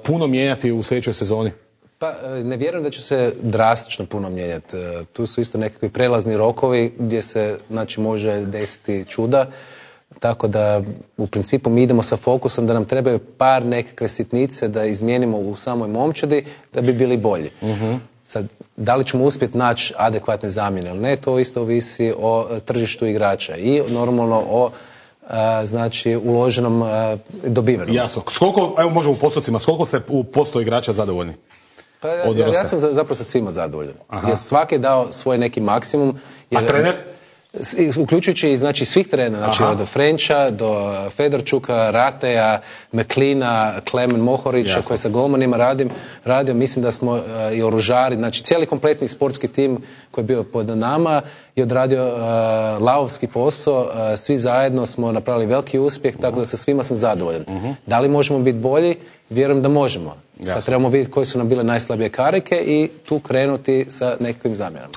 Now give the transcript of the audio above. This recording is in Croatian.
puno mijenjati u sljedećoj sezoni? Pa ne vjerujem da će se drastično puno mijenjati. Tu su isto nekakvi prelazni rokovi gdje se znači, može desiti čuda. Tako da u principu mi idemo sa fokusom da nam trebaju par nekakve sitnice da izmijenimo u samoj momčadi da bi bili bolji. Sad, da li ćemo uspjeti naći adekvatne zamjene ili ne, to isto ovisi o tržištu igrača i normalno o znači uloženom dobivenom. Jasno. Evo možemo u postocima, s koliko ste u posto igrača zadovoljni? Pa ja sam zapravo sa svima zadovoljan. Jer svaki je dao svoj neki maksimum. A trener? Uključujući i znači svih trenera, znači od Frenča do Fedorčuka, Rateja, Meklina, Klemen Mohorića koji sa golmanima radio, mislim da smo i oružari, znači cijeli kompletni sportski tim koji je bio pod nama je odradio lavovski posao, svi zajedno smo napravili veliki uspjeh, tako da sa svima sam zadovoljan. Da li možemo biti bolji? Vjerujem da možemo. Sad trebamo vidjeti koje su nam bile najslabije karike i tu krenuti sa nekakvim zamjenama.